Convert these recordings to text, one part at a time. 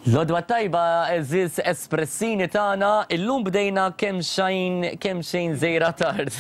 L-għodwa t-tajba għeżież espressini tagħna, illum bdejna kemm xejn kemm xejn żejra tard.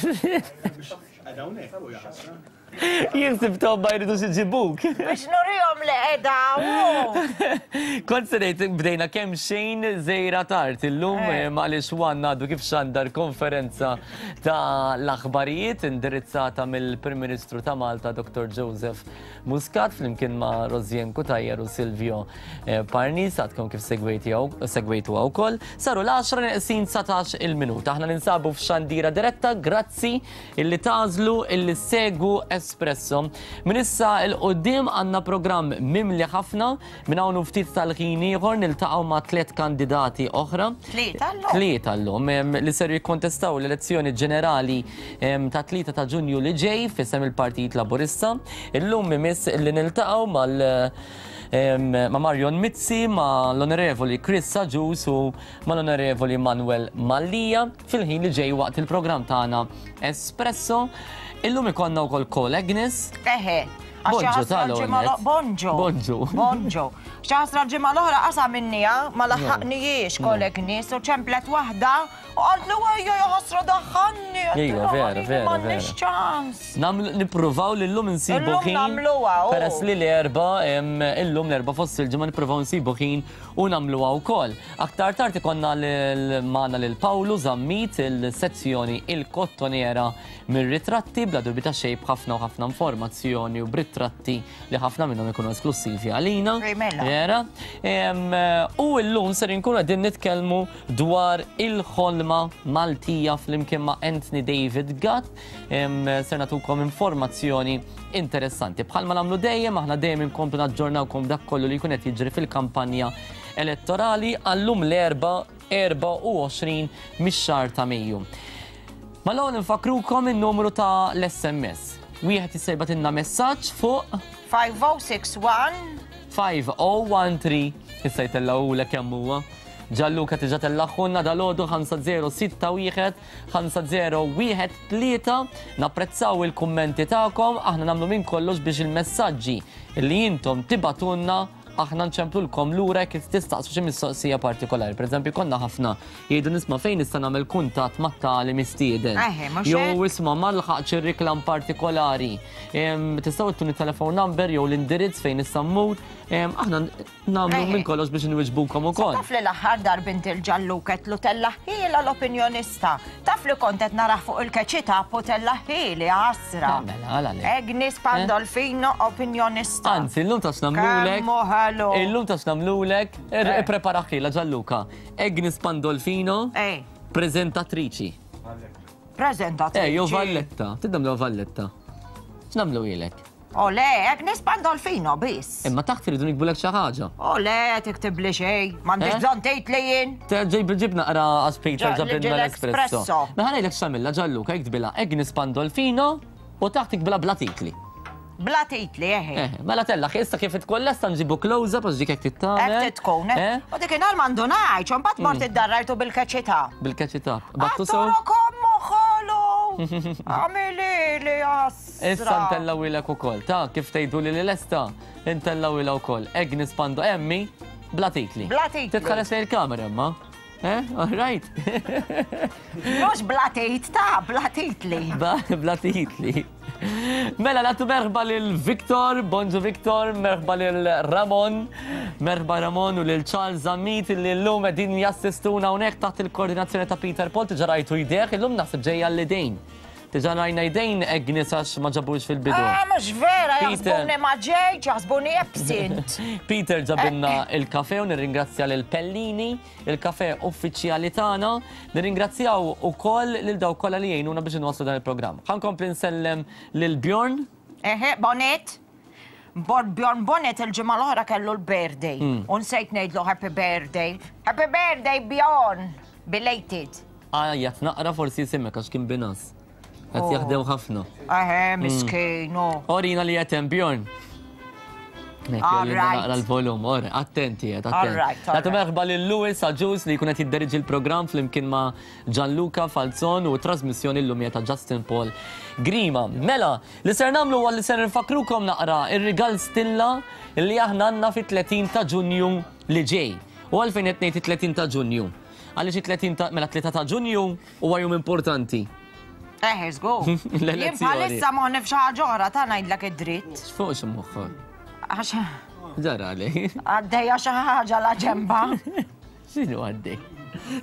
Jien sibthom ma jridux iġibuk. Biex nurihom li qiegħda hawn. Kont se ngħid bdejna kemm xejn żejra tard illum eh. għaliex Juan għadu kif xandar konferenza ta' l-aħbarijiet indirizzata mill-Prim Ministru ta' Malta Dr. Joseph Muscat flimkien ma' Rosien Cutajar u Silvio eh, Parnis għadkom kif segwejtuha wkoll. Saru l-10 neqsin 19 il-minuta. Aħna ninsabu f'xandira diretta grazzi illi tażlu illi segwu Espresso. Minn issa il-qoddim għandna programm mimli ħafna minn hawn ftit tal-ħin ieħor niltaqgħu ma' tliet kandidati oħra. Tlieta llum. Tlieta llum li ser jikkontestaw l-elezzjoni ġenerali ta' 3 ta' Ġunju li ġej f'isem il-Partit Laburista. Illum imiss li niltaqgħu mal ma' Marion Mizzi, ma' l-Onorevoli Chris Agius u ma' l-Onorevoli Manuel Mallia fil-ħin li ġej waqt il-programm tagħna Espresso. Illum ikollna wkoll Call Agnes. Eħe. Bonġu tal Bonġu. Bonġu. Bonġu. Xaħsra l-ġimgħa l-oħra qasa minnija ma laħħaqnijiex kolleg nies u ċemplet waħda u qaltlu ejja ja ħasra daħħalni. Ejja, vera, vera. M'għandniex ċans. Nippruvaw li llum insibu ħin. Nagħmluha. Peress li l-erba' illum l-erba' fost il-ġimgħa nippruvaw nsibu ħin u nagħmluha wkoll. Aktar tard ikollna magħna lil Pawlu Zammit il-sezzjoni il-Kottonera mir-ritratti bla dubju ta' xejn b'ħafna u ħafna informazzjoni u b'ritratti li ħafna minnhom ikunu esklussivi għalina. Mela. Vera. U llum ser inkunu qegħdin nitkellmu dwar il-ħolma Maltija flimkien ma' Anthony David Gatt. Ser nagħtukom informazzjoni interessanti. Bħalma nagħmlu dejjem, aħna dejjem inkomplu naġġornawkom dak kollu li jkun qed jiġri fil-kampanja elettorali għallum l-erba' 24 mix-xahar ta' Mejju. Mal-ewwel infakkrukom in-numru ta' l-SMS. Wieħed jista' jibgħatilna messaġġ fuq 5061 5013 issa jtellgħulek kemm huwa. Gianluca tiġa tellaħħulna dal-għodu 5061 5013 napprezzaw il-kummenti tagħkom, aħna nagħmlu minn kollox biex il-messaġġi li intom tibatunna aħna nċemplulkom lura jekk tistaqsu xi mistoqsija partikolari. Pereżempju, konna ħafna jgħidu nisma' fejn nista' nagħmel kuntatt ma' tali mistieden. Jew isma' ma lħaqx ir-reklam partikolari. Tistgħu ttuni telefon number jew l-indirizz fejn nista' mmur. Aħna nagħmlu minn kollox biex inwiġbukom ukoll. Taf li l-aħħar darbint il-ġalluket lu tellaħħiela l-opinjonista. Taf li kont qed narah fuq il-keċita u tellaħħieli ħasra. Mela, għala le. Agnes Pandolfino opinjonista. Anzi, illum tax nagħmlulek. Kemm hu ħelu. Illum tax nagħmlulek, ippreparaħilha Gianluca. Agnes Pandolfino, preżentatriċi. Preżentatriċi. Eh, jew Valletta. Tidnamlu Valletta. X'nagħmlu ilek? O le, Agnes Pandolfino biss. Imma taħt iridu nikbulek xi ħaġa. O le, tiktibli xejn, m'għandix eh? bżonn tgħid li jien. Ġib ġib naqra għax Peter ġabilna l-espresso. Mela ngħidlek x'għamilha Gianluca iktbilha Agnes Pandolfino u taħt ikbilha bla titli. Bla titli, eħe. Eh, mela tella, issa kif tkun lesta nġibu close up għax dik hekk tittamel. Hekk tkun, eh? eh? U dik inhar m'għandu ngħid, mbagħad mort mm. id-darrajtu bil-keċità. Bil-keċità. Battu sew. Kommu ħolu! Għamili li jas. Issa ntellawilek ukoll, ta' kif tgħidu li lesta, intellawilha wkoll. Agnes Pando Emmi, bla titli. Bla titli. Titħares lejn il-kamera imma. Eh, all right. Mhux bla tit ta' bla titli. Bla titli. Mela nagħtu merħba lil Victor, bonġu Victor, merħba lil Ramon, merħba Ramon u lil Charles Zammit li llum qegħdin jassistuna hawnhekk taħt il-koordinazzjoni ta' Peter Paul tiġa rajtu jdejh, illum naħseb ġejja l-idejn. Diġà rajna jdejn Agnes għax ma ġabux fil-bidu. Ah, mhux vera, jaħsbuni ma ġejtx, jaħsbuni absent. Peter ġabilna il-kafe u nirringrazzja lil Pellini, il-kafe uffiċjali tagħna. Nirringrazzjaw ukoll lil dawk kollha li jgħinuna biex inwasslu dan il-programm. Ħa nkompli nsellem lil Bjorn. Eħe, Bonnet. Bjorn Bonnet il-ġimgħa l-oħra kellu l-birthday. U nsejt ngħidlu happy birthday. Happy birthday Bjorn! Belated. Għajjat naqra forsi jisimek għax kien binas. Qed oh. jaħdem ħafna. Eħe, miskin. Oh. Orina li qed hemm Bjorn. Naqra l-volum, or, attenti, qed attenti. Nagħtu merħba lil Louis Aġus li jkun qed jidderiġi l-programm flimkien ma' Gianluca Falzon u trasmissjoni llum ta' Justin Paul Grima. Mela, li ser nagħmlu huwa li ser nfakrukom naqra ir-rigal stilla li aħna għandna fit-30 ta' Ġunju li ġej. U għalfejn qed ngħid it-30 ta' Ġunju? Għaliex it-30 ta' mela 3 ta' Ġunju huwa jum importanti. Eh, żgur. Jien bħalissa moħħni f'xi ħaġa oħra ta' ngħidlek id-dritt. X'fuq xi moħħok? Għax. Ġara li. Għaddejja xi ħaġa la ġemba. X'inhu għaddej?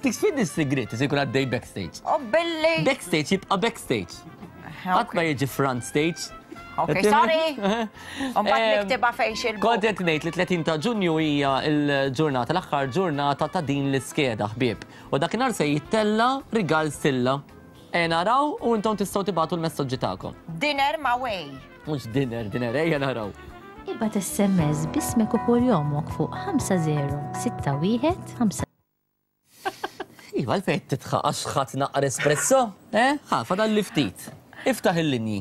Dik sfid is-sigriet se jkun għaddej backstage. U billi. Backstage jibqa' backstage. Qatt ma jiġi front stage. Ok, sorry. Mbagħad niktibha fejn xil. Kont qed ngħid li 30 ta' Ġunju hija l-ġurnata l-aħħar ġurnata ta' din l-iskeda ħbieb. U dakinhar se jittella' rigal stilla. Ejja naraw u intom tistgħu tibagħtu l-messaġġi tagħkom. Dinner ma' Way. Mhux dinner, dinner, ejja naraw. Ibgħat SMS b'ismek u kunjomok fuq 5061 5. Iva, għalfejn qed tidħaq għax ħadt naqra espresso? Eh? Ħa, fadalli ftit. Iftaħ il-linji.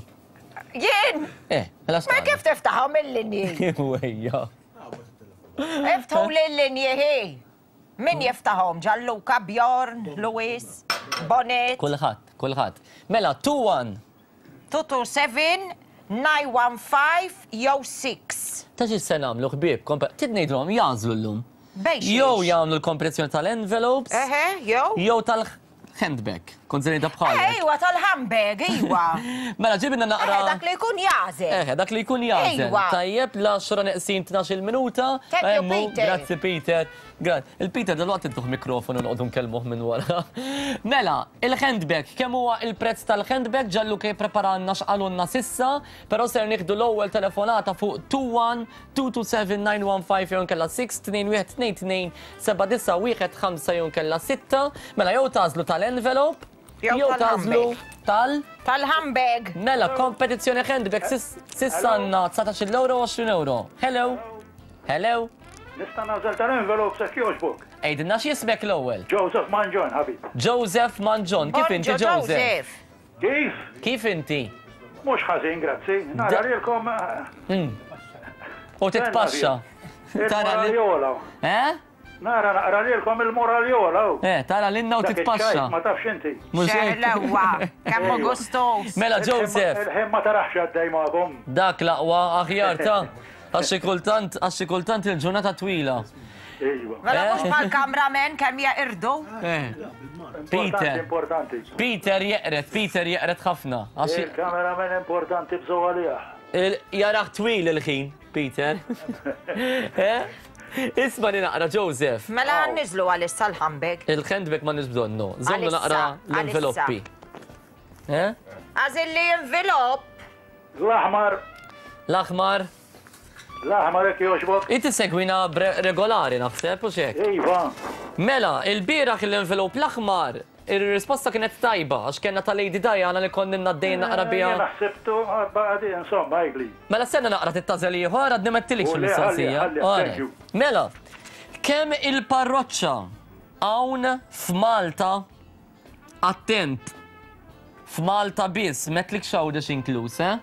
Jien? Eh, mela Ma kif tiftaħhom il-linji? Wejja. Iftħu l-linji hi. Min jiftaħhom? Gianluca, Bjorn, Luis, Bonnet. Kulħadd, kulħadd. Mela, 2-1. 227, 915 jew 6. Ta' xi se nagħmlu ħbieb, trid ngħidilhom jagħżlu llum. Bejn xiex? Jew jagħmlu l-kompetizzjoni tal-envelopes. Eħe, jew? Jew tal Handbag, kont se ngħidha bħalek. Eh, iwa, tal-handbag, iwa. Mela ġibna naqra. Eh, dak li jkun jażel. Eh, dak li jkun jażel. Iwa. Tajjeb, l-10 neqsin 12 minuta. Thank you, Emmu, Peter. Grazzi, Peter. Grazzi. Il-Peter dal-waqt intuh mikrofonu noqogħdu nkellmuh minn wara. Mela, il-handbag, kemm huwa il-prezz tal-handbag ġallu kej preparanna x'qalulna sissa, però ser nieħdu l-ewwel telefonata fuq 21 227 915 jew inkella 6 21 22 7915 jew inkella 6. Mela jew tagħżlu tal-envelope jew tagħżlu tal Tal-handbag. Mela kompetizzjoni handbag s'issa għandna 19-il euro u 20 euro. Hello. Hello. Nista' nagħżel tal-envelope jekk jogħġbok. Għidilna x'jismek l-ewwel. Joseph Mangion, ħabib. Joseph Mangion, kif inti Joseph? Kif? Kif inti? Mhux ħażin, grazzi. Nara lilkom. Hmm. U titpaxxa. Tara li. Eh? Nara naqra lilkom il-moraljola. Eh, tara lilna u titpaxxa. Ma tafx inti. Mhux hekk. Xeħlewa, kemm hu gustuż. Mela Joseph. Il-ħin ma tarax għaddej magħkom. Dak l-aqwa aħjar ta' għax xi kultant għax xi kultant il-ġurnata twila. Iva. Mela mhux bħall-cameraman kemm jeqirdu. Eh. Peter. Importanti. Peter jeqred, Peter jeqred ħafna. Il-cameraman importanti bżgħu għalih. Jarah twil il-ħin, Peter. Eh? Isma' li naqra, Joseph. Mela niżlu għalissa l-handbag. Il-handbag ma nix bżonnu. Żommu naqra l-enveloppi. Eh? Għażilli envelop. L-aħmar. L-aħmar. L-aħmar jekk jogħġbok. Inti segwina regolari naħseb u xek. Iva. Mela, il-bieraħ l-envelop l-aħmar, ir-risposta kienet tajba għax kellna ta' Lady Diana li konna għaddejn naqra biha. Jiena ħsibtu għadi insomma għidli. Mela stenna naqra tittażel ieħor għadni ma għedtilix il-mistoqsija. Mela, kemm il-parroċċa hawn f'Malta Attent! F'Malta biss, m'għedtlikx Għawdex inkluż, eh?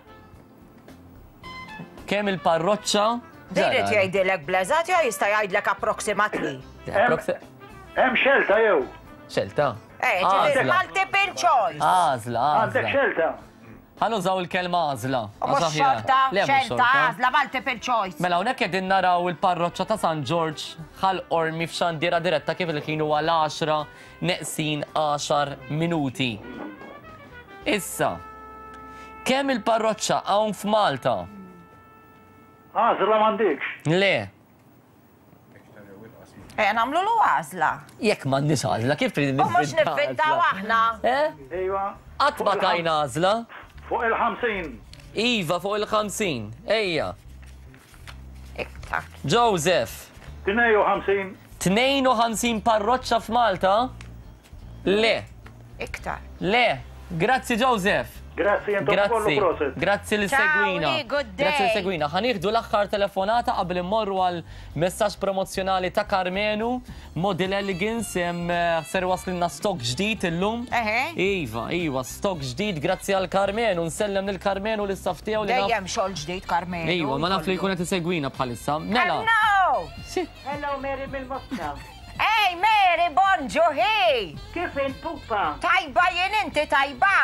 Kemm il-parroċċa. Din irid jgħidilek bl-eżatt jew jista' jgħidlek approximately? Hemm xelta jew? Xelta? Eh, ġifieri multiple choice. Għażla, għażla. Għandek xelta? Ħa nużaw il-kelma għażla. U mhux xorta, xelta, għażla, multiple choice. Mela hawnhekk qegħdin naraw il-parroċċa ta' San Ġorġ Ħal Qormi f'xandiera diretta kif il-ħin huwa l-għaxra neqsin għaxar minuti. Issa, kemm il-parroċċa hawn f'Malta? Għażla m'għandikx. Le. Ejja nagħmlulu għażla. Jekk m'għandniex għażla, kif trid U mhux nivvintaw aħna. Eh? Iva. Qatt ma tajna għażla. Fuq il-50. Iva, fuq il-50. Ejja. Iktar. Joseph. 52. 52 parroċċa f'Malta? Le. Iktar. Le. Grazzi Joseph. Grazzi intom ukoll u proset. Grazzi li segwina. Ciao, good day. Grazzi li segwina. Ħa nieħdu l-aħħar telefonata qabel immorru għal messaġġ promozzjonali ta' Karmenu, Model Elegance, hemm ser waslinna stock ġdid illum. Eħe. Iva, iva, stock ġdid grazzi għal Karmenu. Nsellem lil Karmenu l-istaff tiegħu li naf. Dejjem xogħol ġdid Karmenu. Iva, ma naf li jkun qed isegwina bħalissa. Mela. Hello! Hello Mary mill-Moska. Ej Mary, bonġu hi! Kif int pupa? Tajba jien inti tajba?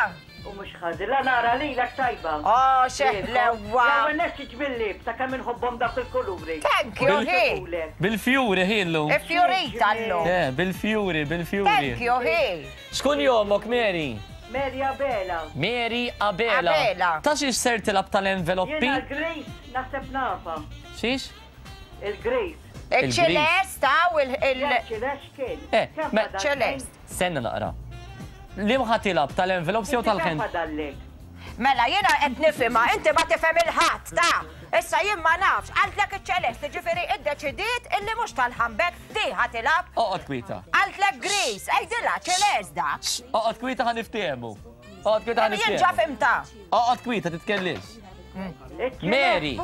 U mhux ħażin, la nara lilek tajba. Oh, x'ħlewwa! L-ewwel nett xi ġmiel ta' kemm inħobbhom dawk il-kuluri. Thank you, hi! Bil-fjuri hi llum. Ifjurita llum. Eh, bil-fjuri, bil-fjuri. Thank you, hi! X'kun jomok, Mary? Mary Abela. Mary Abela. Abela. Ta' xiex ser tilgħab tal-enveloppi? Jiena l-Grace naħseb nafha. Xiex? Il-Grace. Il-ċelest, hawn il-. Ċelest kien. Eh, ċelest. Stenna naqra. Liem ħa tilgħab, tal-envelopes jew tal-hand? Inti kemm fadallek? Mela jiena qed nifhimha, inti ma tifhem il-ħadd, ta! Issa jien ma nafx, qaltlek iċ-ċelest, jiġifieri iddeċidiet illi mhux tal-handbag, di ħa tilgħab. Oqgħod kwieta. Qaltlek Grease, għidilha ċelest dak. Oqgħod kwieta ħa niftehmu. Oqgħod kwieta ħa niftehmu. Jien ġa fhimtha. Oqgħod kwieta titkellimx. Mary!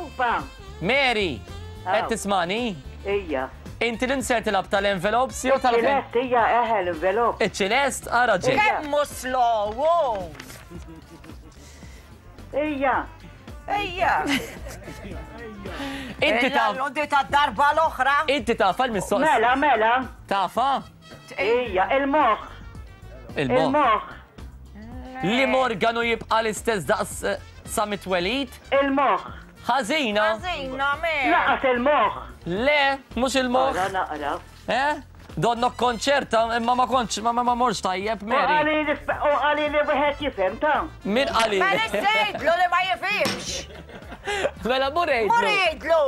Mary! Qed tismani? Ija. Inti l-insert tilgħab tal-envelopes jew tal Iċ-ċelest, ija, eħe l-envelop. Iċ-ċelest, ara ġej. Kemm hu slow, hu! Ija. Ija. Inti taf. L-di ta' darba l-oħra. Inti taf għal-mistoqsija. Mela, mela. Tafa? Ija, il-moħħ. Il-moħħ. Il-moħħ. Li morganu jibqa' l-istess daqs eh, sa mit-twelid? Il-moħħ. Ħażina. Ħażina, me. Laqas il-moħħ. Le, mhux il-moħħ. Naqra, naqra. Eh? Donnok konċerta, imma ma kontx, ma ma morx tajjeb, Mary. U għali li wieħed jifhem ta' Min għali? Mela sejtlu li ma jifhimx. Mela mur għidlu. Mur għidlu.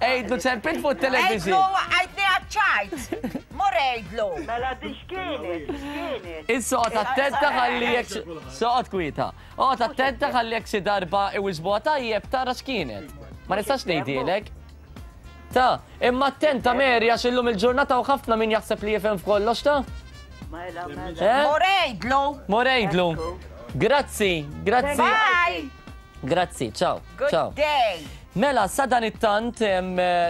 Għidlu ċempil fuq television. Għidlu għidni għadċajt. Mur għidlu. Mela di x'kienet, x'kienet. Issa oqgħod attenta ħalli jekk soqgħod kwieta. Oqgħod attenta ħalli jekk xi darba iwiġbuha tajjeb tara x'kienet. Ma nistax ngħidilek. Ta, imma attenta Mary għax illum il-ġurnata u ħafna min jaħseb li jifhem f'kollox ta. Mela, mela. Eh? Mur għidlu. Mur għidlu. Grazzi, grazzi. Bye. Grazzi, ciao. Good ciao. day. Mela, sadanittant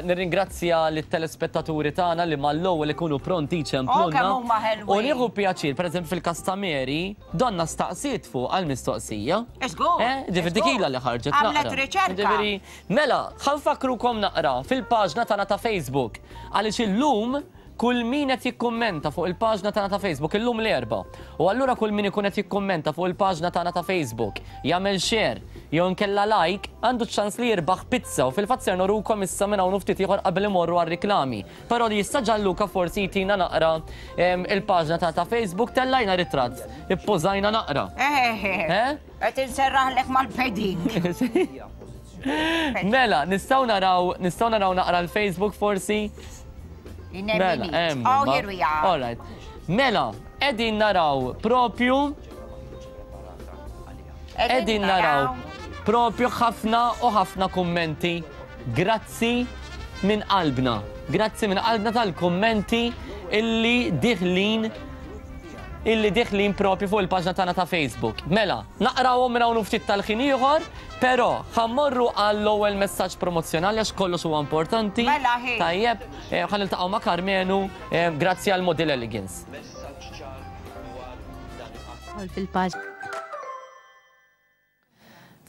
nirringrazzja lit-telespettaturi tagħna li mal-ewwel ikunu pronti jċemplulna. Oh, kemm huma ħelwin. U nieħu pjaċir, pereżempju fil-każ ta' Mary, donna staqsiet fuq għall-mistoqsija. Żgur. Eh, ġifieri dik ilha li ħarġet naqra. Għamlet riċerka. Ġifieri, mela, ħa nfakkrukom naqra fil-paġna tagħna ta' Facebook. Għaliex illum Kull min qed jikkummenta fuq il-paġna tagħna ta' Facebook illum l-Erbgħa. U allura kull min ikun qed jikkummenta fuq il-paġna tagħna ta' Facebook, jagħmel share jew inkella like, għandu ċ-ċans li jirbaħ pizza u fil-fatt ser nurukom issa minn hawn u ftit ieħor qabel imorru għar-riklami. Però li jista' Gianluca forsi jtina naqra il-paġna tagħna ta' Facebook tellajna ritratt, ippożajna naqra. Eh? Qed inserraħlek mal-padding. Mela, nistgħu naraw, nistgħu naraw naqra l-Facebook forsi? Mela, hemm. Oh, here we are. All right. Mela, qegħdin naraw propju qegħdin naraw propju ħafna u ħafna kummenti. Grazzi minn qalbna. Grazzi minn qalbna tal-kummenti illi diħlin illi diħlin propju fuq il-paġna tagħna ta' Facebook. Mela, naqrawhom minn hawn ftit tal-ħin ieħor, però ħa mmorru għall-ewwel messaġġ promozzjonali għax kollox huwa importanti. Mela ħi. Tajjeb, eh, ħa niltaqgħu ma' Karmenu, eh, grazzi għal Model Elegance. Fil-paġna.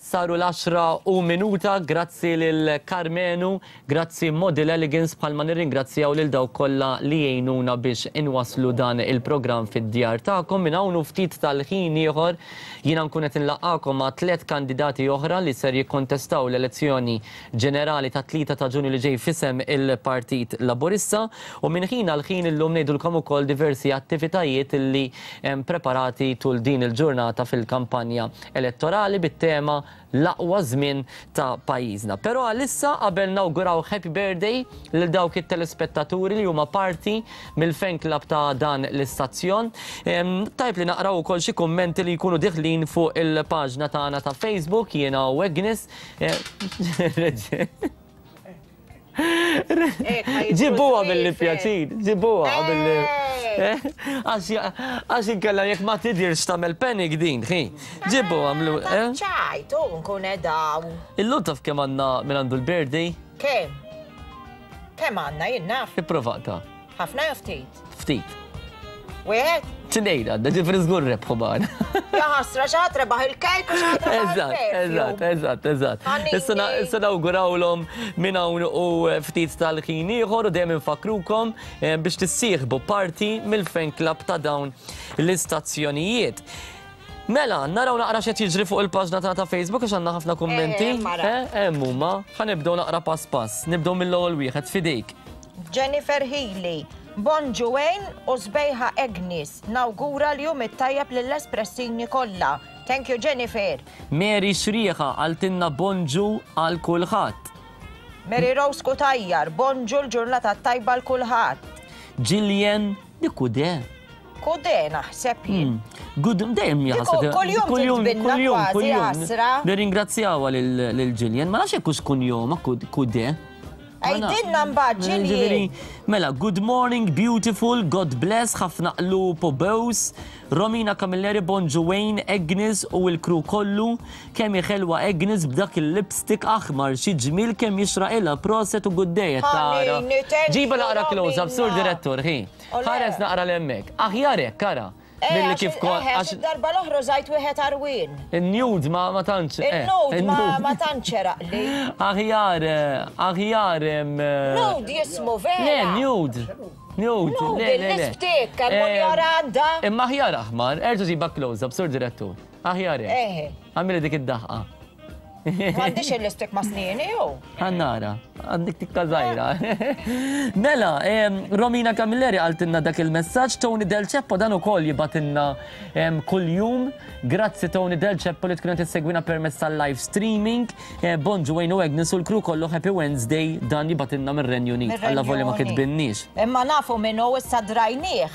Saru l-għaxra u minuta, grazzi lil Karmenu, grazzi Model Elegance bħalma nirringrazzjaw lil dawk kollha li jgħinuna biex inwasslu dan il-programm fid-djar tagħkom. Minn hawn u ftit tal-ħin ieħor jiena nkun qed inlaqqagħkom ma' tlett kandidati oħra li ser jikkontestaw l-elezzjoni ġenerali tat-3 ta' Ġunju li ġej f'isem il-Partit Laburista u minn ħin għal ħin illum ngħidulkom ukoll diversi attivitajiet li hemm preparati tul din il-ġurnata fil-kampanja elettorali bit-tema L-aqwa żmien ta' pajjiżna. Però għalissa qabel nawguraw happy birthday lil dawk it-telespettaturi li huma parti mill-fan club ta' dan l-istazzjon, tajjeb li naqraw ukoll xi kummenti li jkunu diħlin fuq il-paġna tagħna ta' Facebook jiena u Agnes. Ġibuha billi pjaċir, ġibuha billi. Għax inkella jekk ma tidirx tagħmel panic din, ħi. Ġibuha għamlu. Ċajt, u nkun edaw. Illum taf kemm għandna minn għandu l-birthday? Kemm? Kemm għandna jien naf. Ipprova Ħafna jew ftit? Ftit. Wieħed? Tnejn għandna, ġifri żgur rebħu magħna. Ja ħasra xi ħadd rebaħ il-kejk u xi ħadd rebaħ Eżatt, eżatt, eżatt, eżatt. Issa nawgurawlhom minn hawn u ftit tal-ħin ieħor u dejjem infakkrukom eh, biex tissieħbu parti mill-fan club ta' dawn l-istazzjonijiet. Mela, naraw naqra x'qed jiġri fuq il-paġna tagħna ta' Facebook għax għandna ħafna kummenti. Eh, hemm huma. Ħa nibdew naqra pass pass. Nibdew mill-ewwel wieħed f'idejk. Jennifer Healy, Bonġu Wayne u sbejħa Agnes. Nawgura l-jum it-tajjeb lill-espressini kollha. Thank you Jennifer. Mary Xrieħa qaltilna bonġu għal kulħadd. Mary Rose Cutajar, Bonġu l-ġurnata t-tajba 'l kulħadd. Gillian Di kude. Kude naħseb jien. Good, dejjem jaħseb. Kuljum titbinna kważi ħasra. Nirringrazzjawha lil Gillian, ma nafx jekk hux kunjoma kude. Għidilna mbagħad Gillian. Mela, good morning, beautiful, God bless, ħafna qlub u bews. Romina Camilleri, bonġu Wayne, Agnes u l-crew kollu. Kemm hi ħelwa Agnes b'dak il-lipstick aħmar, xi ġmiel kemm jixraqilha, proset u good day qed tara. Ħanini, thank Ġiba you naqra close up, sur Romina. direttur, ħi. Ole. Ħares naqra 'l hemmhekk. Aħjar hekk, ara. Eh, Milli għax kif il- ko- eh, għax għax id-darba l-oħra użajt wieħed għarwien. in-nude ma ma tantx. eh, Il-nude ma in-nude. ma tantx eraqli. Aħjar, eh, aħjar em, eh, Nude jismu vera. Le, nude. Nude, Nude, le, le, le. il-lipstick, kemm hu Eh, jara għandha. Imma aħjar aħmar, erġa' ġiba close up, sur direttur. Aħjar hekk. Eħe. Għamili dik id-daħqa. M'għandix il-lipstick ma' snieni jew? Għannara, għandik tikka żgħira. Mela, Romina Camilleri qaltilna dak il-messaġġ, Tony Del Ceppo dan ukoll jibatilna kuljum. Grazzi Tony Del Ceppo li tkun qed issegwina permezz tal-live streaming. Eh, bonġu Wayne u Agnes u l-crew kollu Happy Wednesday dan jibatilna mir-Renju Unit. Alla volja ma kitbinniex. Imma nafu min hu issa drajnieh.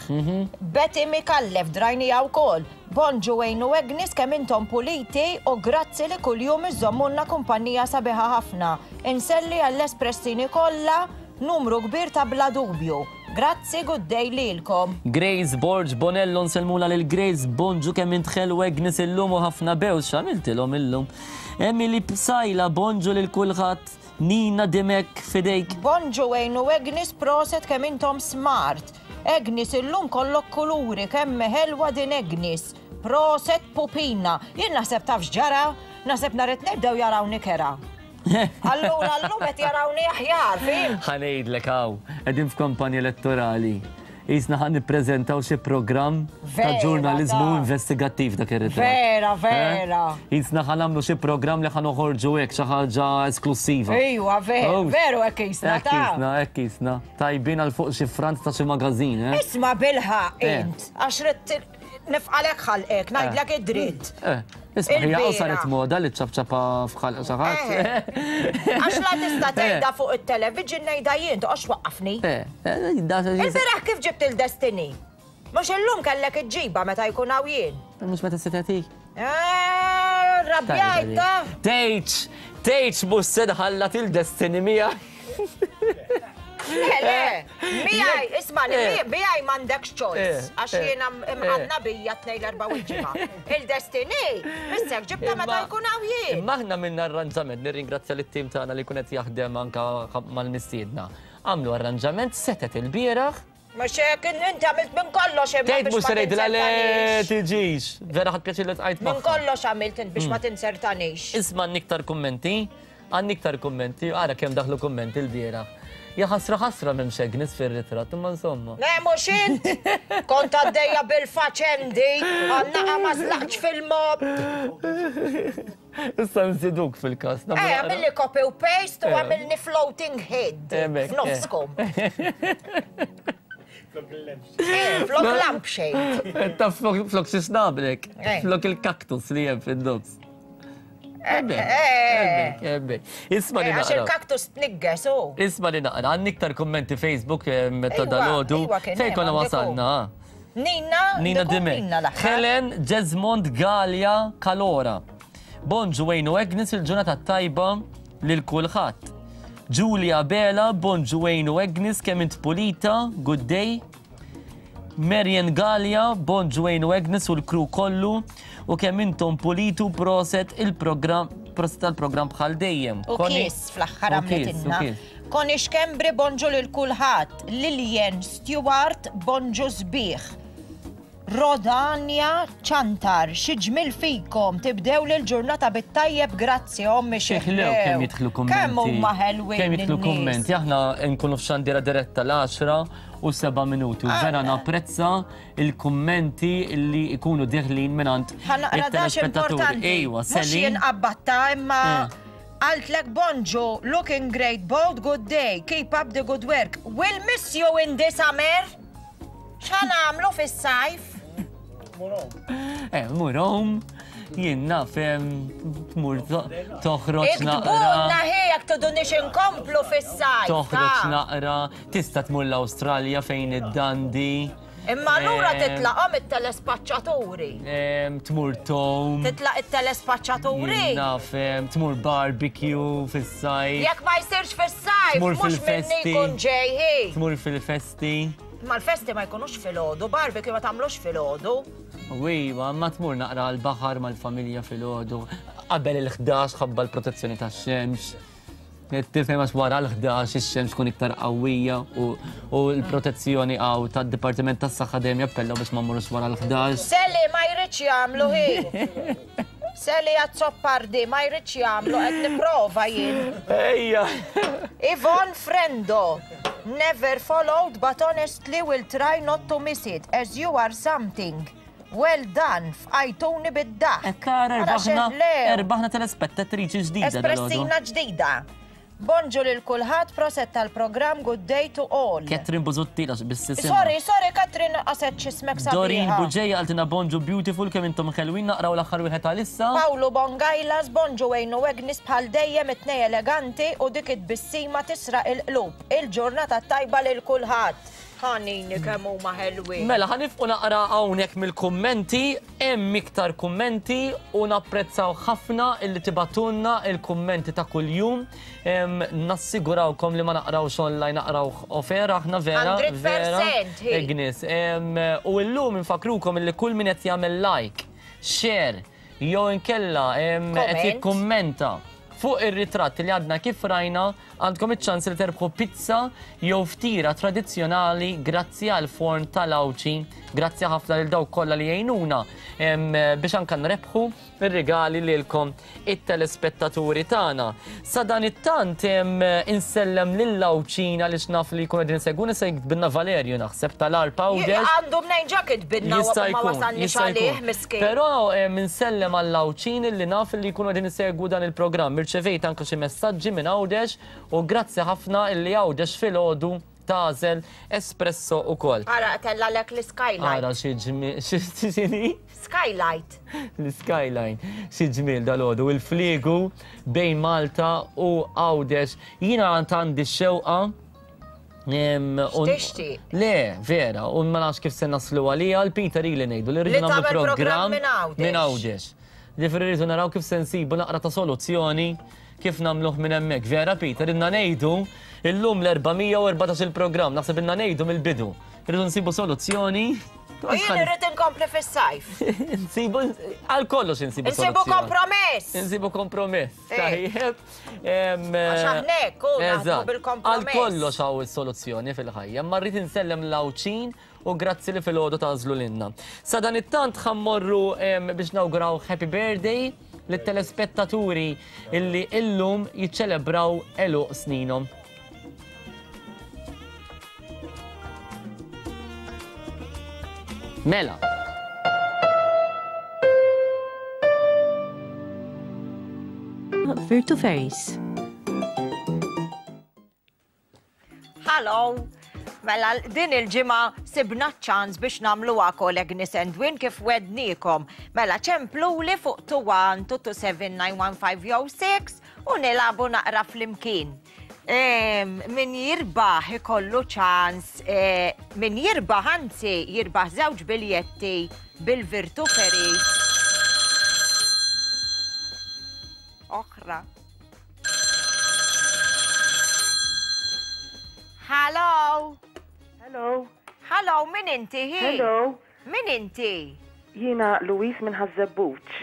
Betty Micallef drajniha wkoll. Bonġu Wayne u Agnes kemm intom puliti u grazzi li kuljum iżżommulna kumpanija sabiħa ħafna. Inselli għall-espressini kollha numru kbir ta' bla dubju. Grazzi good day lilkom. Grace Borg Bonello nsellmulha lil Grace bonġu kemm int ħelu Agnes illum u ħafna bews x'għamiltilhom illum. Emily Psaila bonġu lil kulħadd Nina Dimech f'idejk. Bonġu Wayne u Agnes proset kemm intom smart. Agnes illum kollok kuluri kemm hi ħelwa din Agnes. Proset pupina. Jien naħseb taf x'ġara? Naħseb nhar it-Tnejn bdew jarawni kerha. Allura llum qed jarawni aħjar, fhimt? Ħa ngħidlek hawn, qegħdin f'kampanja elettorali. Qisna ħa nippreżentaw xi programm ta' ġurnaliżmu investigattiv dak ir-ritratt. Vera, vera. Qisna ħa nagħmlu xi programm li ħa noħorġu hekk xi ħaġa esklussiva. Ejwa, veru, veru hekk qisna ta'. Hekk qisna, hekk qisna. Tajbin għal fuq xi front ta' xi magażin, eh? Isma' bilħaqq int, għax ridt nifqalek ħalqek, ngħidlek id-dritt. Eh, isma' hija hawn saret moda li ċċapċapa f'ħalq xi ħadd. Għax la tista' tgħidha fuq it-television ngħidha jien, toqgħodx twaqqafni. Il-bieraħ kif ġibt il-Destiny? Mhux illum kellek iġġibha meta jkun hawn jien. Mhux meta setgħet hi. Eh, rrabjajt ta! Tgħidx, tgħidx mhux se nħallat il-Destiny miegħi. Le, le, miegħi, isma' li miegħi m'għandekx choice, għax jiena imqanna bija tnejn l-erbgħa u l-ġimgħa. Il-Destiny, missek ġibtha meta jkun hawn jien. Imma aħna għamilna arranġament, nirringrazzja lit-tim tagħna li jkun qed jaħdem anke mal-mistiedna. Għamlu arranġament setgħet ilbieraħ. Mhux hekk, inti għamilt minn kollox imma Tgħid biex mhux ma se ngħidilha le tinzertanix. tiġix. Vera ħadt pjaċir li ltqajt Minn magħha. kollox għamilt int biex ma tinzertanix. Isma' għandni iktar kummenti, għandni iktar kummenti, ara kemm daħlu kummenti lbieraħ. Ja ħasra ħasra m'hemmx Agnes fir-ritratt, imma insomma. Le mhux int! Kont għaddejja bil-faċendi, għan-naqa ma żlaqtx fil-mob. Issa nżiduk fil-każ. Eh, għamilli copy u paste u għamilni floating head f'nofskom. Eh, flok lampshade. Eh, ta' flok xi snablek, flok il-kaktus li hemm fin-nofs. Ebbe, ebbe. Isma li Għax il-kaktus tnigges u. Isma li naqra, għandni iktar kummenti Facebook ta' dalodu. Fejn konna wasalna? Nina, Nina Dimech. Helen Jesmond Galea Calora. Bonġu Wayne u Agnes il-ġurnata t-tajba lil kulħadd. Julia Abela, bonġu Wayne u Agnes kemm int pulita, good day. Marian Galea, bonġu Wayne u Agnes u l-crew kollu u kemm intom pulitu proset il-programm proset tal-programm bħal dejjem. U kiss fl-aħħar għamlitilna. Connie Schembri bonġu lil kulħadd, Lilian Stewart bonġu sbieħ. Rodania Ciantar, xi ġmiel fikom, tibdew l-ġurnata bit-tajjeb grazzi ommi xi ħlew kemm jidħlu kummenti. Kemm huma ħelwin. Kemm jidħlu kummenti, aħna nkunu f'xandira diretta l-10 u 7 minuti u vera ah. napprezza il-kummenti li jkunu deħlin mingħand it-telespettaturi. Ejwa, Mhux jien qabbatta imma eh. Qaltlek bonġu, looking great, bold good day, keep up the good work. We'll miss you in the summer. X'ħa nagħmlu fis-sajf? Eh, mur home, jien naf tmur toħroġ naqra. Iktbulna hi jekk tudunix inkomplu fis-sajf. Toħroġ naqra, tista' tmur l-Awstralja fejn id-dandi. Imma allura titlaqhom it-telespaċċaturi. Tmur tom. Titlaq it-telespaċċaturi. Naf, tmur barbecue fis-sajf. Jekk ma jsirx fis-sajf, mhux minni jkun ġej hi. Tmur fil-festi. Ma l-festi ma jkunux filgħodu, barbecue ma tagħmlux filgħodu. U iva, ma tmur naqra l-baħar mal-familja filgħodu. Qabel il-11 ħabba l-protezzjoni tax-xemx. Tifhem għax wara l-11 ix-xemx tkun iktar qawwija u l-protezzjoni għaw tad-Dipartiment tas-Saħħa dejjem jappellaw biex ma mmorrux wara l-11. Sally ma jridx jagħmlu hi. Sally Azzopardi ma jridx jagħmlu qed nipprova jien. Ejja. Yvonne Frendo, never followed but honestly will try not to miss it as you are something. Well done, fqajtuni bid-daħk. Qed tara rbaħna rbaħna telespettatriċi ġdida. Espressina ġdida. Bonġu lil kulħadd, proset tal-programm, good day to all. Catherine Busuttil għax biss isimha. Sorry, sorry Catherine qaset x'ismek sabiħa. Doreen Buġeja qaltilna bonġu beautiful kemm intom ħelwin naqraw l-aħħar wieħed għalissa. Pawlu Bongajlas, bonġu Wayne u Agnes bħal dejjem it-tnej eleganti u dik it-tbissima tisraq il-qlub. Il-ġurnata t-tajba lil kulħadd. Ħanini kemm huma ħelwin. Mela ħa nifqu naqra hawnhekk mill-kummenti, hemm iktar kummenti u napprezzaw ħafna illi tibgħatulna il-kummenti ta' kuljum. Nassigurawkom li ma naqrawx online naqraw off air aħna vera. 100% hi. Agnes. U llum infakkrukom illi kull min qed jagħmel like, share, jew inkella qed jikkummenta fuq ir-ritratt li għadna kif rajna Għandkom iċ-ċans li terbħu pizza jew ftira tradizzjonali grazzi għal forn tal-Għawdxi. Grazzi ħafna lil dawk kollha li jgħinuna biex anka nrebħu ir-rigali lilkom it-telespettaturi tagħna. Sa dan it-tant insellem lil Għawdxin għaliex naf li jkunu qegħdin isegwuna se jiktbilna Valerju naħseb tal-Għarb Għawdex. Għandu mnejn ġa kitbilna u ma wasalniex għalih miskin. Però insellem għall-Għawdxin li naf li jkunu qegħdin isegwu dan il-programm. Irċevejt anke xi messaġġi minn Għawdex u grazzi ħafna illi Għawdex filgħodu tagħżel espresso ukoll. Ara tellgħalek l-skylight. Ara xi ġmiel, x'inhi? Skylight. L-skyline. Xi ġmiel dalgħodu. Il-fliegu bejn Malta u Għawdex. Jiena għandi x-xewqa X'tixtieq? Le, vera, u ma nafx kif se naslu għaliha, l-Peter ili ngħidu li rridu nagħmlu programm minn Għawdex. Ġifieri rridu naraw kif se nsibu naqra ta' soluzzjoni kif nagħmluh minn hemmhekk. Vera Peter, ilna ngħidu illum l-414 il-programm, naħseb ilna ngħidu mill-bidu. Rridu nsibu soluzzjoni. Jien irrid inkompli fis-sajf. Nsibu għal kollox insibu soluzzjoni. Nsibu kompromess. Nsibu kompromess. Eh. Tajjeb. Għax aħna hekk, bil-kompromess. Għal kollox hawn is-soluzzjoni fil-ħajja, ma rrid insellem l-Għawdxin u grazzi li filgħodu tagħżlu lilna. Sadanittant ħa mmorru biex nawguraw happy birthday lit-telespettaturi illi illum jiċċelebraw għeluq sninhom. Mela. Virtu Ferries. Hello! Mela din il-ġimgħa sibna ċ-ċans biex nagħmluha call Agnes and Win kif wednikom. Mela ċempluli fuq 21 227 915 jew 6 u nilagħbu naqra flimkien. Min jirbaħ ikollu ċans, eh, min jirbaħ anzi jirbaħ żewġ biljetti bil-Virtu Ferries. Oħra. Hello. Hello. Hello, min inti hi? Hello. Min inti? Jiena Louise minn Ħaż-Żebbuġ.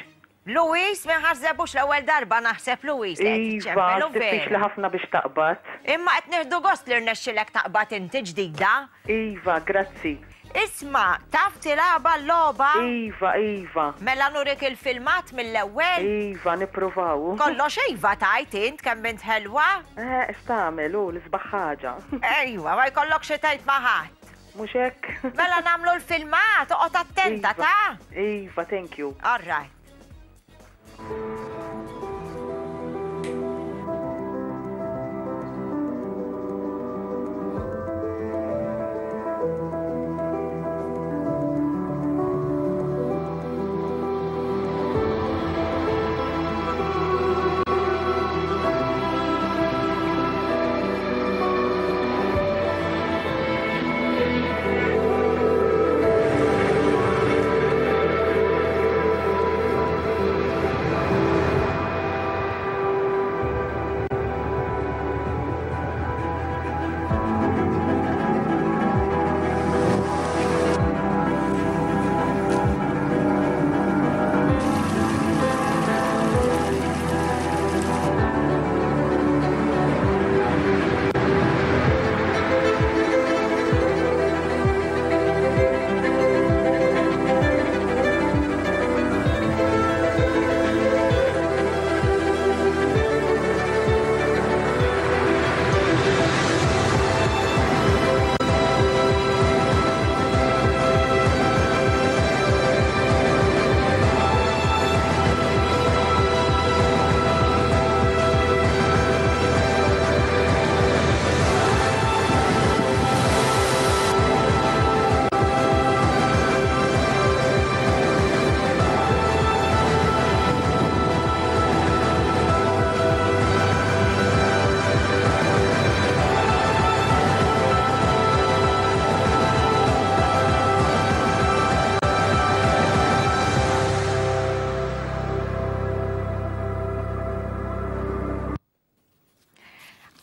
Louise minn Ħaż-Żebbuġ l-ewwel darba naħseb Louise li qed Iva, iċċempel u diffiċli veru. ħafna biex taqbad. Imma qed nieħdu gost li rnexxilek taqbad inti ġdida. Iva, grazzi. Isma, taf tilgħabha l-logħba? Iva, iva. Mela nurik il-filmat mill-ewwel? Iva, nippruvaw. Kollox iva tgħid int kemm int ħelwa. Eh, x'tagħmel hu l-isbaħ ħaġa. Ejwa, ma jkollokx xi tgħid ma' ħadd. Mhux hekk? Mela nagħmlu l-filmat, oqgħod attenta, Iva. ta? Iva, thank you. All right.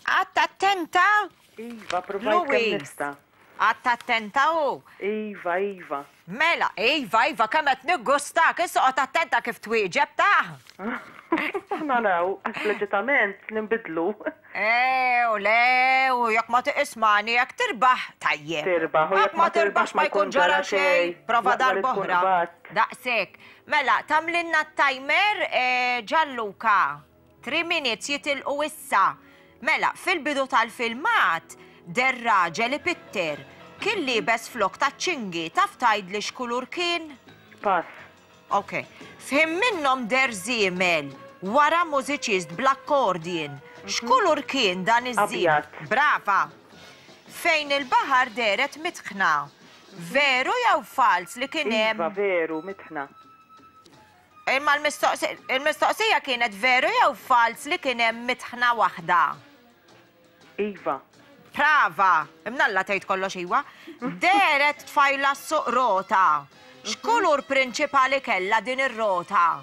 Qgħadt attenta? Iva, provajt kemm Louise. nista'. Qgħadt attenta u? Iva, iva. Mela, iva, iva, kemm qed niggustak, issa oqgħod attenta kif twieġeb ta'. Naraw, għax leġitament ninbidlu. Eh, u le, u jekk ma tiqismani, jekk tirbaħ, tajjeb. Tirbaħ, u Jekk ma tirbaħx ma jkun ġara xejn. Prova L-aqwa li tkun darb'oħra. qbadt. Daqshekk. Mela, tagħmlilna t-timer, eh, Gianluca. Three minutes jitilqu issa. Mela, fil-bidu tal-filmat, deher raġel ipitter. Kien liebes flokk taċ-ċingi, taf tgħidli x'kulur kien? Pass. Ok. F'ħin minnhom deher żiemel wara mużiċist bl-accordion. X'kulur kien dan iż-żiemel? Abjad. Brava. Fejn il-baħar dehret mitħna. Veru jew falz li kien hemm? Iva, veru, mitħna. Imma l-mistoqsija kienet veru jew falz li kien hemm mitħna waħda? Iva. Prava! Imnalla tgħid kollox iwa. Dehret tfajla ssuq rota. X'kulur prinċipali kellha din ir-rota?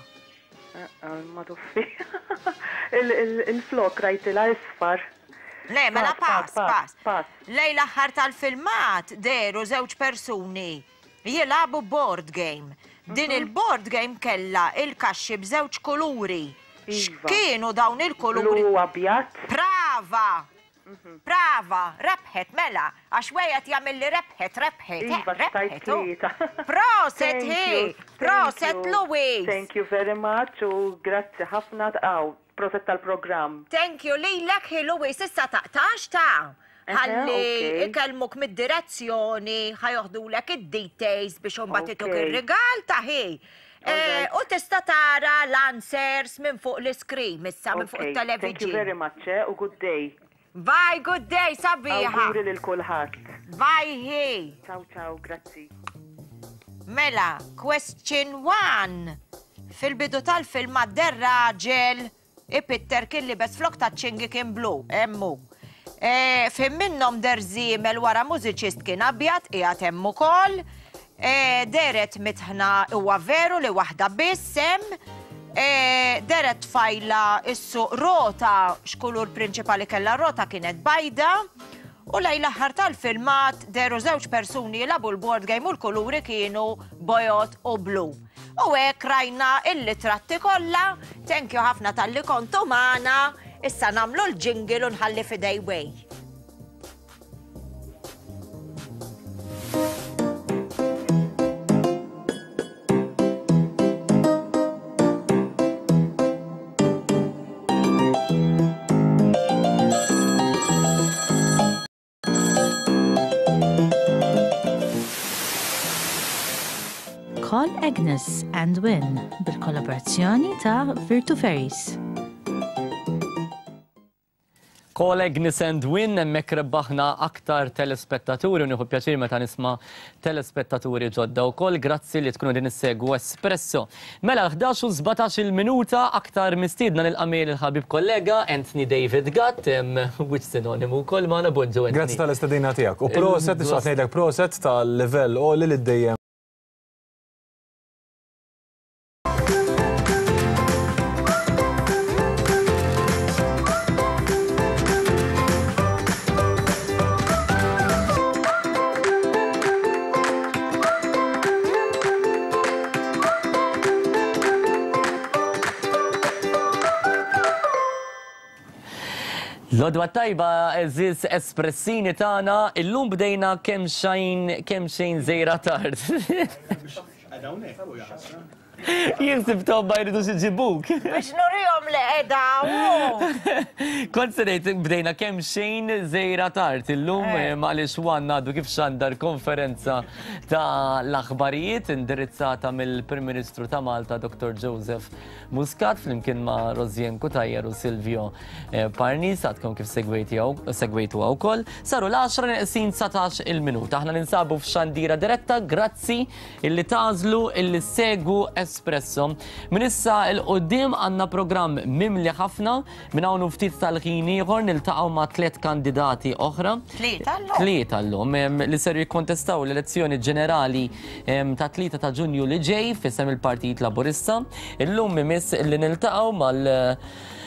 Ma tuffi. Il-flok rajtilha isfar. Le, mela pass, pass. Pass. Lejn l-aħħar tal-filmat dehru żewġ persuni Jilagħbu board game. Din il-board game kellha il-kaxxi b'żewġ kuluri. Iva. X'kienu dawn il-kuluri? Blu u abjad. Prava! Prava! Rebħet mela, għax wieħed jagħmilli rebħet, rebħet, eh, Iva, stajt rebħet. hu. tlieta. Proset Thank hi! you, thank Proset you. Louise! Thank you very much u grazzi ħafna għaw, proset tal-programm. Thank you lilek hi Louise, issa taqtax ta' Ħalli ikellmuk mid-direzzjoni, ħa joħdulek id-details biex imbagħad ituk ir-rigal ta' hi. U tista' tara l-answers minn fuq l-iskrin issa minn fuq it-television. Thank you very much eh, u good day. Bye, good day, sabiħa. Awguri lil kulħadd. Bye hi. Ciao ciao, grazzi. Mela, question one. Fil-bidu tal-filmat deher raġel Ipitter kien liebes flokk taċ-ċingi kien blu, hemm hu. F'ħin minnhom deher żiemel wara mużiċist kien abjad, qiegħed hemm ukoll. Dehret mitħna huwa veru li waħda biss hemm. Dehret tfajla ssuq rota, x'kulur prinċipali kellha r-rota kienet bajda. U lejn l-aħħar tal-filmat dehru żewġ persuni jilagħbu l-board game u l-kuluri kienu bojod u blu. U hekk rajna il-litratti kollha. Thank you ħafna talli kontu magħna. Issa nagħmlu l-jingle u nħalli f'idej Way. Call Agnes and Win bil-kollaborazzjoni ta' Virtu Ferries. Call Agnes and Win hemmhekk rebbaħna aktar telespettaturi u nieħu pjaċir meta nisma' telespettaturi ġodda wkoll. Grazzi li tkunu din issegwu Espresso. Mela l-11 u 17 il-minuta aktar mistiedna nilqa' miegħi lill-ħabib kollega Anthony David Gatt, wiċċ sinonimu wkoll magħna. Bonġu Anthony. Grazzi tal-istedina tiegħek. U proset, nixtaq ngħidlek proset tal-livell għoli li dejjem L-għodwa t-tajba għeżież espressini tagħna, illum bdejna kemm xejn kemm xejn żejra tard. Jien sibthom ma jridux iġibuk. Biex nurihom li qiegħda hawn. Kont se ngħid bdejna kemm xejn żejra tard illum eh, għaliex One għadu kif xandar konferenza ta' l-aħbarijiet indirizzata mill-Prim Ministru ta' Malta Dr. Joseph Muscat flimkien ma' Rosien Cutajar u Silvio eh, Parnis għadkom kif segwejtu wkoll. Saru l-10 neqsin 19 il-minuta. Aħna ninsabu f'xandira diretta, grazzi illi tagħżlu illi ssegwu Espresso. Minn issa 'l quddiem għandna programm mimli ħafna. Minn hawn u ftit tal-ħin ieħor niltaqgħu ma' tliet kandidati oħra. Tlieta llum. Tlieta llum li ser jikkontestaw l-elezzjoni ġenerali ta' 3 ta' Ġunju li ġej f'isem il-Partit Laburista. Illum imiss li niltaqgħu mal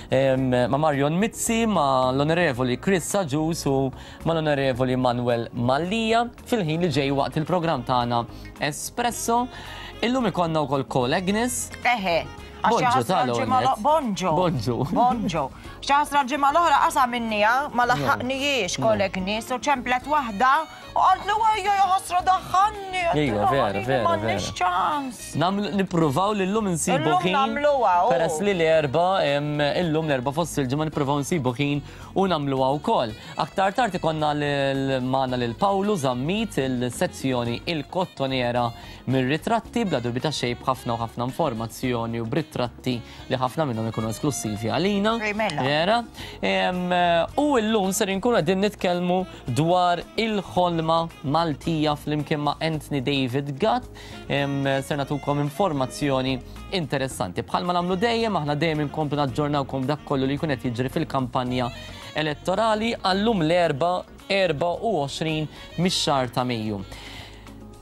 ma' Marion Mizzi, ma' l-Onorevoli Chris Agius u mal-Onorevoli Manuel Mallia. Fil-ħin li ġej waqt il-programm tagħna Espresso, illum ikollna wkoll Call Agnes. Eħe. Bonġu tal Bonġu. Bonġu. Bonġu. Xaħsra l-ġimgħa l-oħra qasa minnija ma laħħaqnijiex Call Agnes u ċemplet waħda u qaltlu ejja ja ħasra daħħalni. Ejja, vera, vera. M'għandniex ċans. Nagħmlu nippruvaw li llum insibu ħin. Illum nagħmluha. Peress li l-erba' illum l-erba' fost il-ġimgħa nippruvaw nsibu ħin u nagħmluha wkoll. Aktar tard ikollna magħna lil Pawlu Zammit il-sezzjoni Il-Kottoniera mir-ritratti bla dubju ta' xejn b'ħafna u ħafna informazzjoni u b'ritratti li ħafna minnhom ikunu esklussivi għalina. Mela. Vera. U llum ser inkunu qegħdin nitkellmu dwar il-ħolma Maltija flimkien ma' Anthony David Gatt. Ser nagħtukom informazzjoni interessanti. Bħalma nagħmlu dejjem, aħna dejjem inkomplu naġġornawkom dak kollu li jkun qed jiġri fil-kampanja elettorali għallum l-erba' 24 mix-xahar ta' Mejju.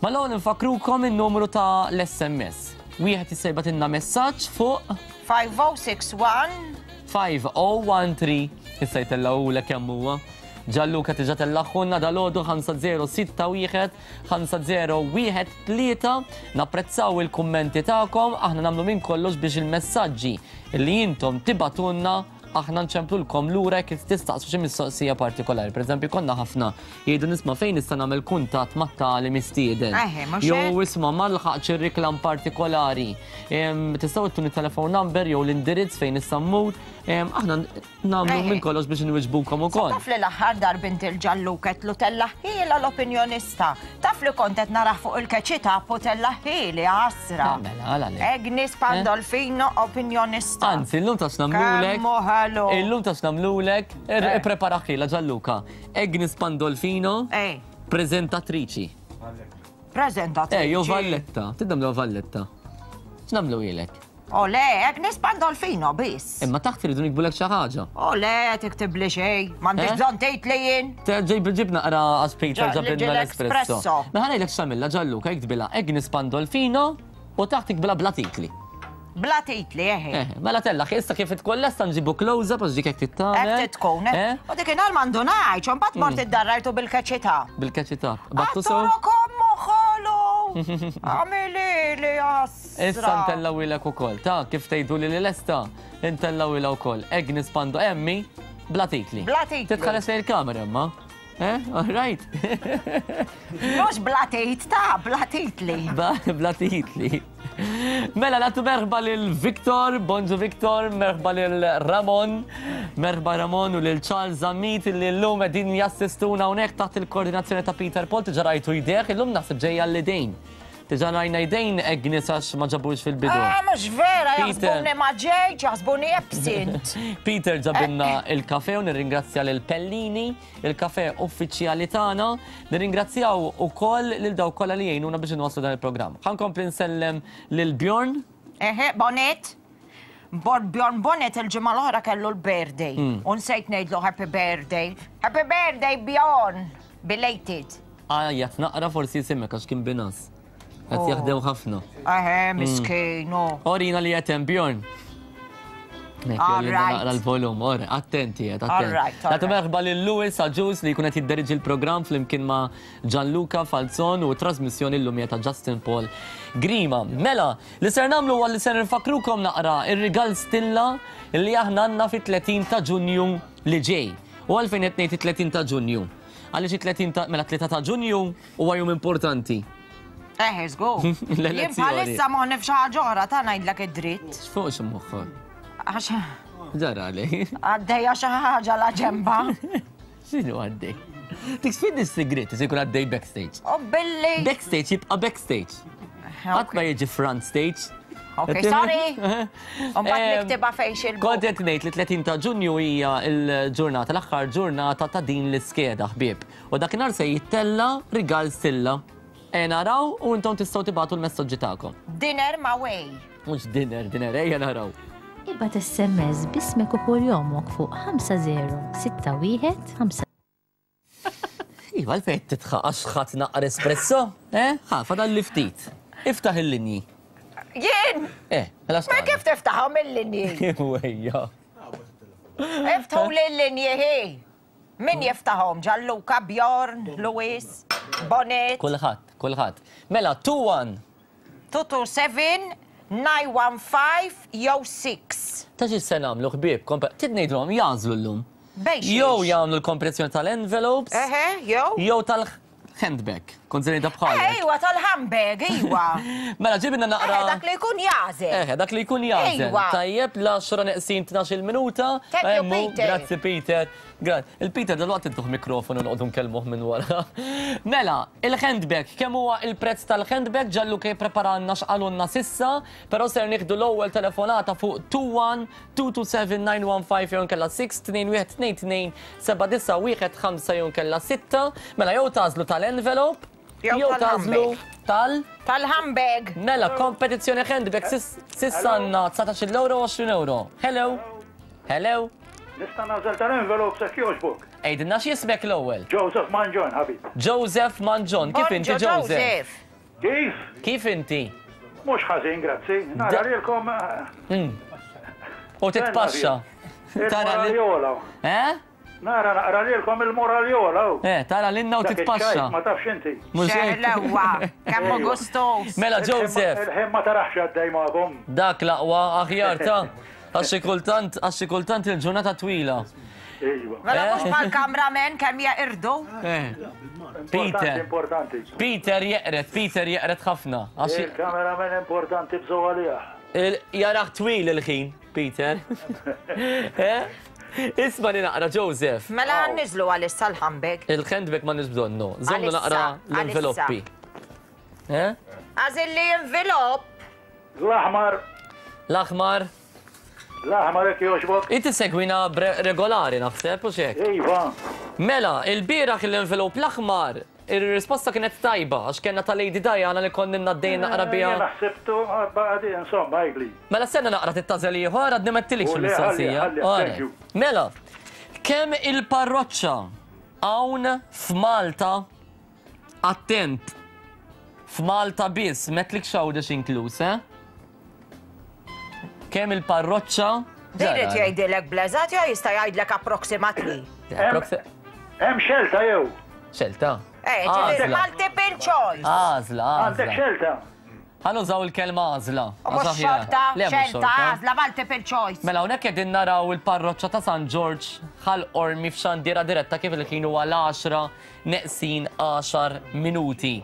Mal-ewwel infakkrukom in-numru ta' l-SMS. Wieħed jista' jibgħatilna messaġġ fuq 5061 5013 issa jtellgħulek kemm huwa. Gianluca diġà tellagħhulna dalgħodu 5061 5013 Napprezzaw il-kummenti tagħkom, aħna nagħmlu minn kollox biex il-messaġġi li intom tibgħatulna aħna nċemplulkom lura jekk tistaqsu xi mistoqsija partikolari. Pereżempju, konna ħafna jgħidu nisma' fejn nista' nagħmel kuntatt mat-tali mistieden. Jew isma' ma lħaqx ir-riklam partikolari. Tistgħu ttuni telefon number jew l-indirizz fejn nista' mmur. Aħna Nagħmlu minn kollox biex inwiġbukom ukoll. Taf li l-aħħar darba inti l-Ġalluk għedtlu tellaħħiela l-opinjonista. Taf li kont qed narah fuq il-keċi tap u tellaħħieli ħasra. Mela, għala le. Agnes Pandolfino opinjonista. Anzi, illum taf x'nagħmlulek. Kemm hu ħelu. Illum taf x'nagħmlulek. Ippreparaħħiela Ġalluka. Agnes Pandolfino. Preżentatriċi. Preżentatriċi. Eh, jew Valletta. Tidnagħmluha Valletta. X'nagħmlu ilek? O le, Agnes Pandolfino biss. Imma taħt iridu nikbulek xi ħaġa. O le, tiktibli xejn. M'għandix Eh? bżonn tgħid li jien. Ġib ġib naqra għax Peter ġabilna l-espresso. L-espresso. Mela ngħidlek x'għamilha Gianluca, iktbilha Agnes Pandolfino u taħt iktbilha bla titli. Bla titli, eħe. Eh, mela tella, issa kif tkun lesta nġibu close-up għax dik hekk tittamel. Hekk tkun, eh? Eh? U dik inhar m'għandunajx, u mbagħad mort iddarrajtu bil-keċità. Bil-keċità. Battu sew? Għatturu kommu ħolu! Għamilili jas. Issa ntellawilek ukoll, ta' kif tgħiduli li lesta, intellawilha wkoll. Agnes Pando Emmi, bla titli. Bla titli. Titħares lejn il-kamera imma. Eh, all right. Mhux bla tit, ta' bla titli. Bla titli. Mela nagħtu merħba lil Victor, bonġu Victor, merħba lil Ramon, merħba Ramon u lil Charles Zammit li llum qegħdin jassistuna hawnhekk taħt il-koordinazzjoni ta' Peter Paul tiġa rajtu jdejh, illum naħseb ġejja l-idejn. Diġà rajna jdejn Agnes għax ma ġabux fil-bidu. Ah, mhux vera, jaħsbuni ma ġejtx, jaħsbuni absent. Peter ġabilna il-kafe u nirringrazzja lil Pellini, il-kafe uffiċjali tagħna. Nirringrazzjaw ukoll lil dawk kollha li jgħinuna biex inwasslu dan il-programm. Ħa nkompli nsellem lil Bjorn. Eħe, Bonnet. Bjorn Bonnet il-ġimgħa l-oħra kellu l-birthday. U nsejt ngħidlu happy birthday. Happy birthday, Bjorn! Belated. Għajjat naqra forsi jisimek għax kien binas. Qed oh. jaħdem ħafna. Eħe, miskin. Orina li qed hemm Bjorn. Naqra l-volum, or, attenti, qed attenti. Nagħtu merħba lil Louis Aġus li jkun qed jidderiġi l-programm flimkien ma' Gianluca Falzon u trasmissjoni llum ta' Justin Paul Grima. Mela, li ser nagħmlu huwa li ser nfakrukom naqra ir-rigal stilla li aħna għandna fit-30 ta' Ġunju li ġej. U għalfejn qed ngħid it-30 ta' Ġunju? Għaliex it-30 ta' mela 3 ta' Ġunju huwa jum importanti. Eh, żgur. Jien bħalissa moħħni f'xi ħaġa oħra ta' ngħidlek id-dritt. X'fuq x'moħħok? Għax. Ġara li. Għaddejja xi ħaġa la ġemba. X'inhu għaddej? Dik sfid is-sigriet se jkun għaddej backstage. U billi. Backstage jibqa' backstage. Qatt ma jiġi front stage. Ok, sorry. Mbagħad niktibha fejn xil. Kont qed ngħid li 30 ta' Ġunju hija l-ġurnata, l-aħħar ġurnata ta' din l-iskeda ħbieb. U dakinhar se jittella' rigal stilla. E naraw u intom tistgħu tibagħtu l-messaġġi tagħkom. Dinner ma' way. Mhux dinner, dinner, ejja naraw. Ibgħat SMS b'ismek u kurjomok fuq 5061 5. Iva, għalfejn qed titħaq għax ħadd naqra espresso? Eh? Ħa, fadal li ftit. Iftaħ il-linji. Jien? Eh, mela Ma kif tiftaħhom il-linji? Wejja. Iftħu l-linji hi. Min jiftaħhom? Gianluca, Bjorn, Luis, Bonnet. Kulħadd, kulħadd. Mela, 2-1. 227, 915 jew 6. Ta' xi se nagħmlu ħbieb, trid ngħidulhom jagħżlu llum. Bejn xiex? Jew jagħmlu l-kompressjoni tal-envelopes. Eħe, jew? Jew tal-handbag. Kont se ngħidha bħalek. Eħe, iwa, tal-handbag, iwa. Mela ġibilna naqra. Eħe, dak li jkun jagħżel. Eħe, dak li jkun jagħżel. Iwa. Tajjeb, l-għaxra neqsin 12-il minuta. Thank you, Emmu, Peter. Grazzi, Peter. Il-Peter dalwaqt intuh mikrofonu noqogħdu nkellmuh minn wara. Mela, il-handbag, kemm huwa il-prezz tal-handbag? Gianluca jippreparalna x'qalulna s'issa, però ser nieħdu l-ewwel telefonata fuq 21 227 915 jew inkella 6 21 22 7915 jew inkella 6. Mela jew tagħżlu tal-envelope jew tagħżlu tal Tal-handbag. Mela, kompetizzjoni handbag s'issa għandna 19-il euro u 20 euro. Hello. Hello. Nista' nagħżel tal-envelopes jekk jogħġbok. Għidilna x'jismek l-ewwel. Joseph Mangion, ħabib. Joseph Mangion, kif inti Joseph? Kif? Kif inti? Mhux ħażin, grazzi. Nara lilkom. U titpaxxa. Tara lilkom. Eh? Nara naqra lilkom il-moral jola. Eh, tara lilna u titpaxxa. Ma tafx inti. Mhux hekk. Xeħlewa, kemm hu gustuż. Mela Joseph. Il-ħin ma taraħx għaddej magħkom. Dak l-aqwa aħjar ta' għax xi kultant għax xi kultant il-ġurnata twila. Iva. Mela mhux bħall-cameraman kemm jeqirdu. Eh. Peter. Importanti. Peter jeqred, Peter jeqred ħafna. Il-cameraman importanti bżgħu għalih. Jaraħ twil il-ħin. Peter. Eh? Isma li naqra, Joseph. Mela niżlu għalissa l-handbag. Il-handbag ma nix bżonnu. Żommu naqra l-enveloppi. Eh? Għażil li envelop. L-aħmar. L-aħmar. L-aħmar jekk jogħġbok. Inti segwina regolari naħseb u xek. Iva. Mela, il-bieraħ l-envelop l-aħmar Ir-risposta kienet tajba, għax kellna ta' Lady Diana li konna għaddejjin naqra biha. Jiena ħsibtu, għadi, insomma, għidli. Mela stenna naqra titgħażel ieħor, għadni m'għedtilekx il-mistoqsija. Le, ħalli, ħalli, thank you. Mela, kemm il-parroċċa hawn f'Malta, attent, f'Malta biss, m'għedtlikx Għawdex inkluż, eh? Kemm il-parroċċa. Din irid jgħidilek bl-eżatt jew jista' jgħidlek approximately? Hemm xelta jew? Xelta. Eh, ġifieri multiple choice. Għażla, għażla. Għandek xelta. Ħa nużaw il-kelma għażla. Mhux xorta, xelta, għażla, multiple choice. Mela hawnhekk qegħdin naraw il-parroċċa ta' San Ġorġ Ħal Qormi f'xandiera diretta kif il-ħin huwa l-għaxra neqsin għaxar minuti.